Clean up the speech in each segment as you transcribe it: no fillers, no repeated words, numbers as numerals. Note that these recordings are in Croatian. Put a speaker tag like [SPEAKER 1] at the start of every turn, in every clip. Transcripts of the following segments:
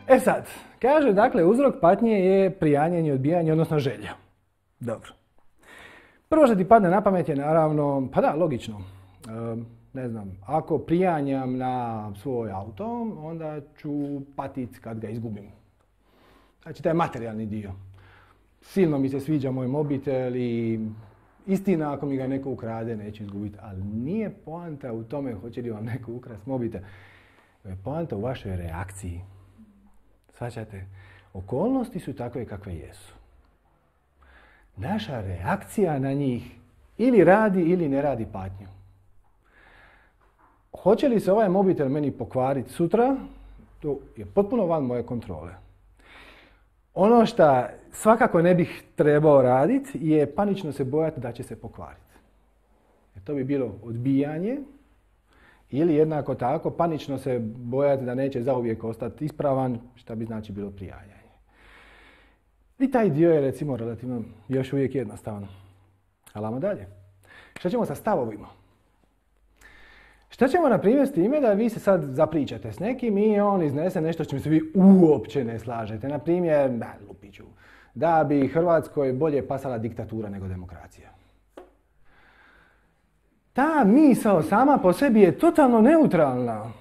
[SPEAKER 1] E sad, kaže, dakle, uzrok patnje je prijanjanje, odbijanje, odnosno želja. Dobro. Prvo što ti padne na pamet je naravno, pa da, logično. Ne znam, ako prijanjam na svoj auto, onda ću patiti kad ga izgubim. Znači, taj materijalni dio. Silno mi se sviđa moj mobitel i istina, ako mi ga neko ukrade, neću izgubiti. Ali nije poanta u tome hoće li vam neko ukrasti mobitel. Je poanta u vašoj reakciji. Shvaćate? Okolnosti su takve kakve jesu. Naša reakcija na njih ili radi ili ne radi patnju. Hoće li se ovaj mobitel meni pokvariti sutra, to je potpuno van moje kontrole. Ono što svakako ne bih trebao raditi je panično se bojati da će se pokvariti. Jer to bi bilo odbijanje ili jednako tako panično se bojati da neće zauvijek ostati ispravan, što bi znači bilo prijanjanje. I taj dio je recimo relativno još uvijek jednostavan. Ali ajmo dalje. Šta ćemo sa stavovima? Šta ćemo na primjer s time da vi se sad zapričate s nekim i on iznese nešto s čim se vi uopće ne slažete. Na primjer, lupiću, da bi Hrvatskoj bolje pasala diktatura nego demokracija. Ta misao sama po sebi je totalno neutralna.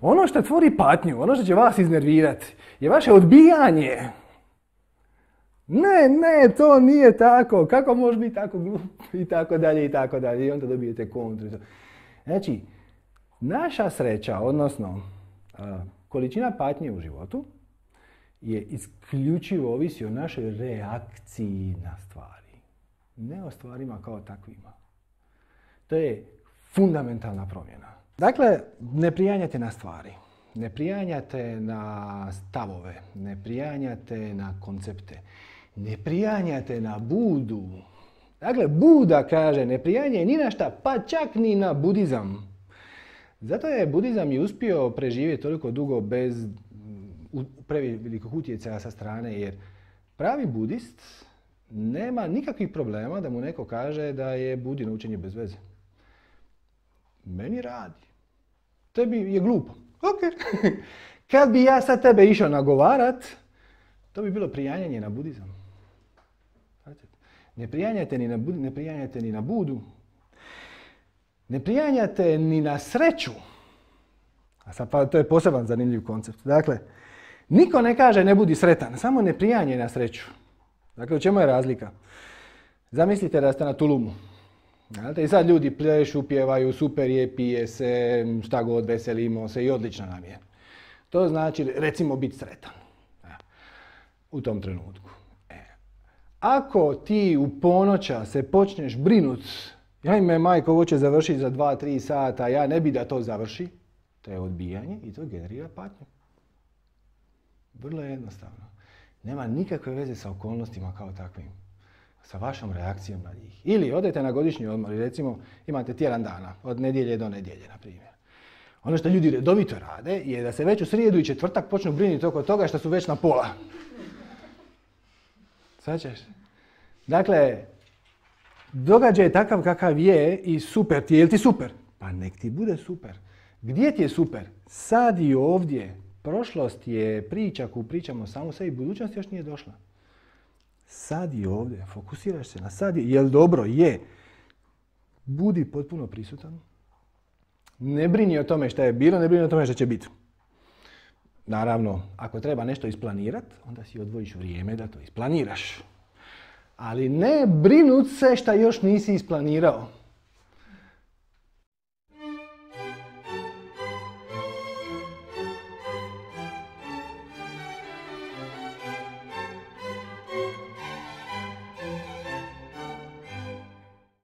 [SPEAKER 1] Ono što tvori patnju, ono što će vas iznervirati, je vaše odbijanje. Ne, to nije tako. Kako može biti tako glup? I tako dalje, i tako dalje. I onda dobijete kontru. Znači, naša sreća, odnosno količina patnje u životu je isključivo ovisi o našoj reakciji na stvari. Ne o stvarima kao takvima. To je fundamentalna promjena. Dakle, ne prijanjate na stvari. Ne prijanjate na stavove. Ne prijanjate na koncepte. Ne prijanjate na Budu. Dakle, Buda kaže ne prijanjaj ni na šta, pa čak ni na budizam. Zato je budizam i uspio preživjeti toliko dugo bez prevelikog utjecaja sa strane, jer pravi budist nema nikakvih problema da mu neko kaže da je Budino učenje bez veze. Meni radi. Tebi je glupo. Ok. Kad bi ja sad tebe išao nagovarat, to bi bilo prijanjanje na budizam. Ne prijanjate ni na Budu. Ne prijanjate ni na sreću. A sad pa to je poseban zanimljiv koncept. Dakle, niko ne kaže ne budi sretan, samo ne prijanjaj na sreću. Dakle, u čemu je razlika? Zamislite da ste na tulumu. I sad ljudi plešu, pjevaju, super je, pije se, šta god, veselimo se i odlično nam je. To znači, recimo, biti sretan. U tom trenutku. Ako ti u ponoća se počneš brinut, ajme majko, ovo će završiti za 2-3 sata, ja ne bi da to završi, to je odbijanje i to generira patnju. Vrlo je jednostavno. Nema nikakve veze sa okolnostima kao takvim. Sa vašom reakcijom na njih. Ili odete na godišnji odmor i recimo imate tjedan dana, od nedjelje do nedjelje, na primjer. Ono što ljudi redovito rade je da se već u srijedu i četvrtak počnu brinuti oko toga što su već na pola. Svaćaš? Dakle, događaj je takav kakav je i super ti je. Jel ti super? Pa nek ti bude super. Gdje ti je super? Sad i ovdje. Prošlost je priča koju pričamo samo sebi, budućnost još nije došla. Sad i ovdje. Fokusiraš se na sad. Jel dobro? Je. Budi potpuno prisutan. Ne brini o tome šta je bilo, ne brini o tome šta će biti. Naravno, ako treba nešto isplanirati, onda si odvojiš vrijeme da to isplaniraš. Ali ne brinut se šta još nisi isplanirao.